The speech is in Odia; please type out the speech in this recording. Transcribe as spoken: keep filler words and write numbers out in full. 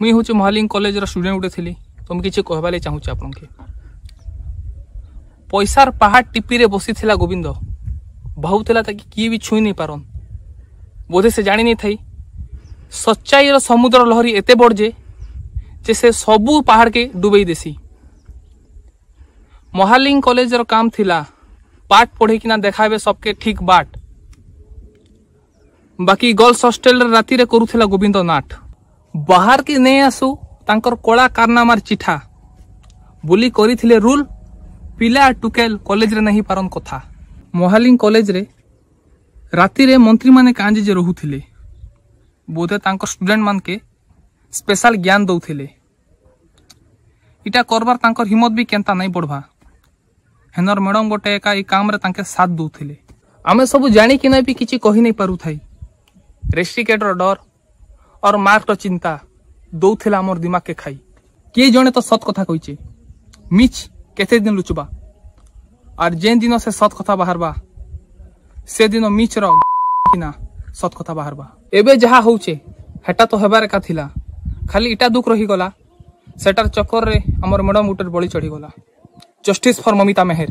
ମୁଇଁ ହେଉଛି ମହାଲିଙ୍ଗ କଲେଜର ଷ୍ଟୁଡେଣ୍ଟ ଗୋଟେ ଥିଲି ତ ମୁଁ କିଛି କହିବା ଲାଗି ଚାହୁଁଛି ଆପଣଙ୍କୁ। ପଇସାର ପାହାଡ଼ ଟିପିରେ ବସିଥିଲା ଗୋବିନ୍ଦ, ଭାବୁଥିଲା ତାকে କିଏ ବି ଛୁଇଁ ନେଇ ପାରନ୍। ବୋଧେ ସେ ଜାଣି ନେଇଥାଇ ସच्ଚାଇର ସମୁଦ୍ର ଲହରୀ ଏତେ ବଡ଼ ଯେ ଯେ ସେ ସବୁ ପାହାଡ଼କେ ଡୁବେଇ ଦେସି। ମହାଲିଙ୍ଗ କଲେଜର କାମ ଥିଲା ପାଠ ପଢ଼େଇକିନା ଦେଖାବେ ସବକେ ଠିକ ବାଟ। ବାକି ଗର୍ଲସ ହଷ୍ଟେଲରେ ରାତିରେ କରୁଥିଲା ଗୋବିନ୍ଦ ନାଟ। ବାହାରକେ ନେଇ ଆସୁ ତାଙ୍କର କଳା କାରନାମାର ଚିଠା ବୋଲି କରିଥିଲେ ରୁଲ, ପିଲା ଟୁକେଲ କଲେଜରେ ନାହିଁ ପାରନ୍ କଥା। ମହାଲିଙ୍ଗ କଲେଜରେ ରାତିରେ ମନ୍ତ୍ରୀମାନେ କାଞ୍ଜି ଯେ ରହୁଥିଲେ, ବୋଧେ ତାଙ୍କ ଷ୍ଟୁଡେଣ୍ଟ ମାନକେ ସ୍ପେଶାଲ ଜ୍ଞାନ ଦଉଥିଲେ। ଇଟା କରବାର ତାଙ୍କର ହିମ୍ମତ ବି କେନ୍ତା ନାଇଁ ବଢ଼ବା। ହେନର ମ୍ୟାଡ଼ମ ଗୋଟେ ଏକା ଏଇ କାମରେ ତାଙ୍କେ ସାଥ ଦଉଥିଲେ। ଆମେ ସବୁ ଜାଣିକିନା ବି କିଛି କହି ନାଇଁ ପାରୁଥାଇ। ରେଷ୍ଟ୍ରିକେଟର ଡର ଅର୍ ମାର୍କର ଚିନ୍ତା ଦଉଥିଲା ଆମର ଦିମାଗକେ ଖାଇ। କିଏ ଜଣେ ତ ସତ କଥା କହିଛେ, ମିଛ କେତେ ଦିନ ଲୁଚବା? ଆର୍ ଯେନ୍ ଦିନ ସେ ସତ କଥା ବାହାରବା, ସେଦିନ ମିଛର କିନା ସତ କଥା ବାହାରବା। ଏବେ ଯାହା ହଉଛେ ହେଟା ତ ହେବାର ଏକା ଥିଲା, ଖାଲି ଇଟା ଦୁଃଖ ରହିଗଲା ସେଟାର ଚକ୍କରରେ ଆମର ମ୍ୟାଡ଼ମ ଗୋଟେ ବଳି ଚଢ଼ିଗଲା। Justice for Mamita Meher.